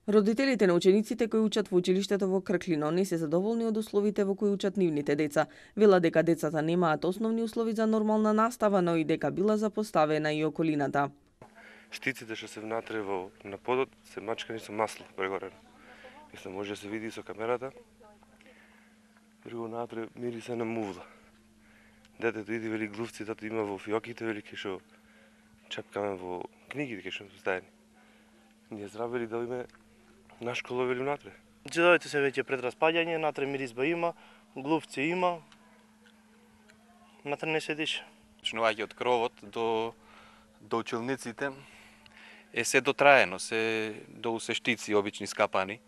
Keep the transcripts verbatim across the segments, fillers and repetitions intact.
Родителите на учениците кои учат во училиштето во Крклино не се задоволни од условите во кои учат нивните деца. Велат дека децата немаат основни услови за нормална настава, но и дека била запоставена и околината. Штиците што се внатре во на подот се мачкани со масло прегорено. Мислам, може да се види со камерата. Друго натре мириса на мувла. Детето иди вели глувци, тато има во фиоките, вели ке шо чепкаме во книгите, ке шо стајани. Ние здравели да име на школа вели внатре. Џедовите се веќе пред распаѓање, натре миризба има, глувци има, натре не се диша. Почнувајќи од кровот до, до училниците е се дотраено, се до усештици обични скапани.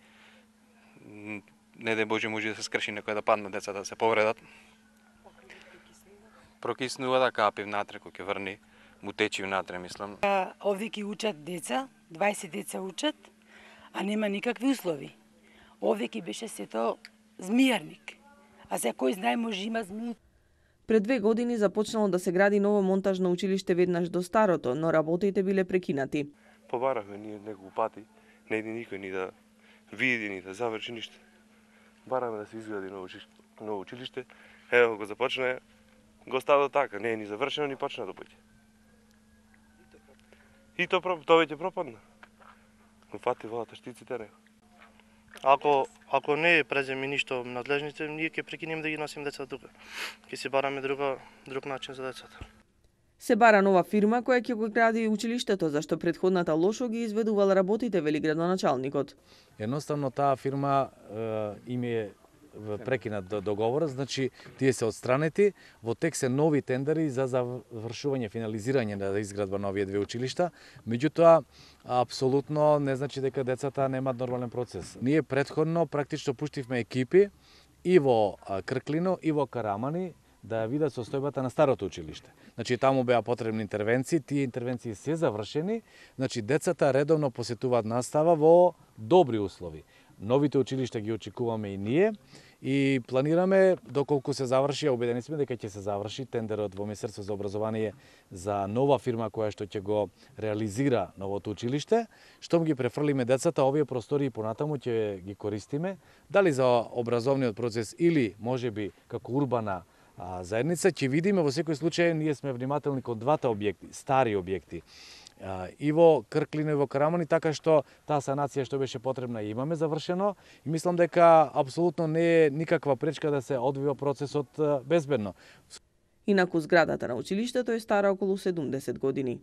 Не де Боже може да се скрши некој да паднат децата да се повредат. Прокиснува да капи внатре кој ќе врни, му течи внатре, мислам. Овде ќе учат деца, дваесет деца учат, а нема никакви услови. Овде ќе беше сето змијарник, а за кој знае може има змии. Пред две години започнало да се гради ново монтажно училиште веднаш до старото, но работите биле прекинати. Побарахме ние неколку пати, не иди никој ни да види, ни да заврши ништо. Бараме да се изгради ново училиште, ново училиште. Ево го започна, го става така, не е ни завршено, ни почна да поќе. И то тоа веќе пропадна. Го фати водата штиците него. Ако ако не преземи ништо надлежните, ние ќе прекинеме да ги носиме децата тука. Ќе си бараме друга друг начин за децата. Се бара нова фирма која ќе го гради училиштето, зашто предходната лошо ги изведувала работите, вели градоначалникот. Едноставно таа фирма е, им е прекинат договорот, значи тие се отстранети, во тек се нови тендери за завршување, финализирање на изградба на овие две училишта, меѓутоа апсолутно не значи дека децата немаат нормален процес. Ние претходно практично пуштивме екипи и во Крклино и во Карамани да ја видат состојбата на старото училиште. Значи таму беа потребни интервенции, тие интервенции се завршени, значи децата редовно посетуваат настава во добри услови. Новите училишта ги очекуваме и ние и планираме доколку се заврши, убедени сме дека ќе се заврши тендерот во Министерство за образование за нова фирма која што ќе го реализира новото училиште, штом ги префрлиме децата, овие простори понатаму ќе ги користиме, дали за образовниот процес или можеби како урбана а, заедница, ќе видиме во секој случај ние сме внимателни кон двата објекти, стари објекти. И во Крклино и во Карамани, така што таа санација што беше потребна имаме завршено и мислам дека апсолутно не е никаква пречка да се одвива процесот безбедно. Инаку зградата на училиштето е стара околу седумдесет години.